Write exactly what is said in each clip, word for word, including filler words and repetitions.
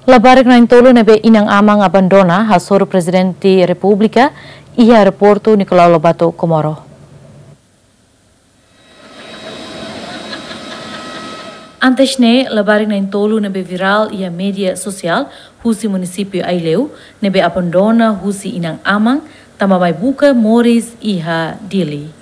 Labarik na'in-tolu ne'ebé inan-aman abandona hasoru Prezidente Repúblika iha Aeroportu Nicolau Lobato, Comoro. Antes ne'e, labarik na'in-tolu ne'ebé virál iha média sosiál husi munisípiu Aileu, ne'ebé abandona husi inan-aman, tanba mai buka moris iha Dili.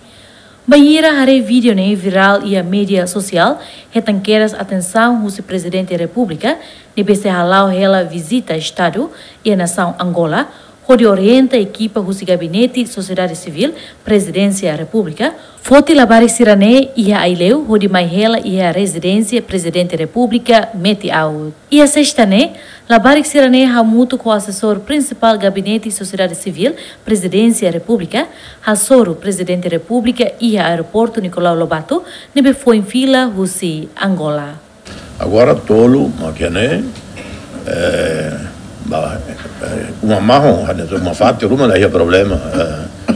Bainhira haree vídeo ne'e virál iha média sosiál, hetan kedas atensaun husi Prezidente Repúblika, ne'ebé sei hala'o hela vizita Estadu iha nasaun Angola, hodi orienta ekipa husi Gabinete Sosiedade Sivíl, Prezidénsia Repúblika, foti labarik sira-ne'e iha Aileu, hodi mai hela iha rezidénsia Prezidente Repúblika Meti-Aut. Iha Sesta ne'e, labarik sira-ne'e hamutuk ho Asesór Prinsipál Gabinete Sosiedade Sivíl, Prezidénsia Repúblika, hasoru Prezidente Repúblika iha Aeroportu Nicolau Lobato, ne'ebé foin fila husi Angola. Agora tolu, mak ne'e, eh, ba, eh, uma mahon, hanesan uma fatin ruma la iha problema, eh,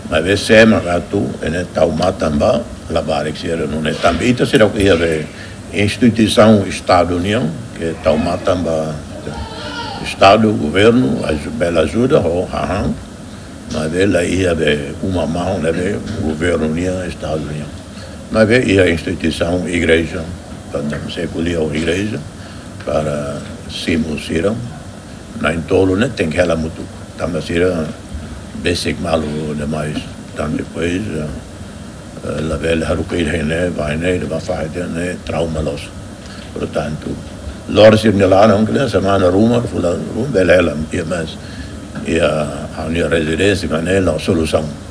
maibé sé mak atu, ne'e tau matan ba labarik sira nune'e. Tanba ita sira iha be instituisaun Estadu nian, ke tau matan ba Estadu, governu, aju-, bele ajuda, ho hahán, maibé la iha be uma mahon, ne'ebé governu nian, Estadu nian. Maibé iha instituisaun igreja, para se ko'alia ho igreja, para simu sira, na'in-tolu ne'e tenke hela hamutuk. Tanba sira besik malu demais. Tanba depois, eh, eh, labele haruka ida iha ne'e, bá iha ne'e, bá fahe iha ne'e, trauma loos. Portantu, lori sira-nia laran, ke semana ruma, fulan ruma, bele hela, iha mais, iha ha'u-nia rezidénsia, mak ne'e la'o solusaun.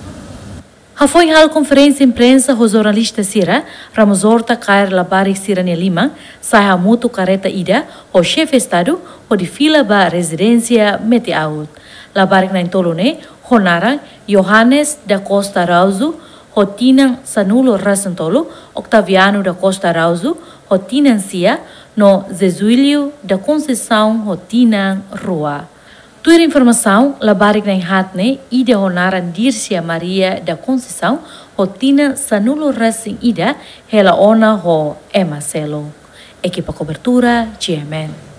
Hafoin halo konferénsia imprensa ho jornalista sira, Ramos Horta kaer labarik sira-nia liman, sai hamutuk kareta ida ho Xefe Estadu, hodi fila ba rezidénsia Meti-Aut. Labarik na'in-tolu ne'e, ho naran Johannes da Costa Araújo, ho tinan sanulu-resin-tolu, Octaviano da Costa Araújo, ho tinan sia, no Zezuílio da Conceição, ho tinan rua. Tuir informasaun, labarik na'in-haat ne'e, ida ho naran Dircia Maria da Conceição, ho tinan sanulu-resin-ida, hela ona ho ema seluk. Ekipa kobertura, G M N.